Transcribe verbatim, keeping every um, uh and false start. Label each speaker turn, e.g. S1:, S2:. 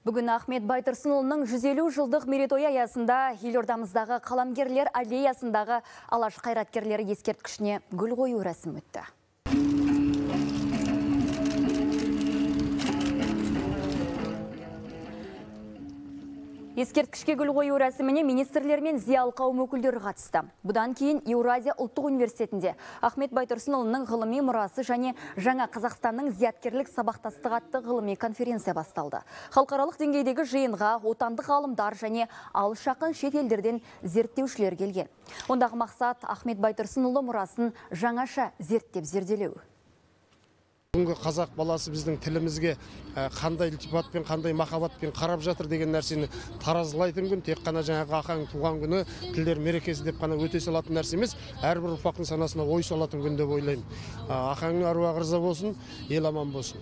S1: Бүгін Ахмет Байтұрсынұлының жүз елу жылдық мерейтойы аясында елордамыздағы қаламгерлер аллеясындағы алаш қайраткерлері ескерткішіне гүл қою рәсімі өтті. Ескерткішке гүл қою рәсіміне министрлер мен зиялы қауым өкілдері қатысты. Бұдан кейін Еуразия ұлттық университетінде Ахмет Байтұрсынұлының ғылыми мұрасы және жаңа Қазақстанның зияткерлік сабақтастығы атты ғылыми конференция басталды. Халықаралық деңгейдегі жиынға отандық ғалымдар және алыс жақын шет елдерден зерттеушілер келген. Ондағы мақсат Ахмет Байтұрсынұлы мұрасын жаңаша зерттеп зерделеу.
S2: Бүгінгі қазақ баласы біздің тілімізге қандай ілтипатпен, қандай махаббатпен қарап жатыр деген нәрсені таразылайтын күн. Тек қана жаңағы Ахаң туған күні, тілдер мерекесі деп қана өте салатын нәрсе емес, әрбір ұрпақтың санасына ой салатын күн деп ойлаймын. Ахаңның аруағы риза болсын, ел аман болсын.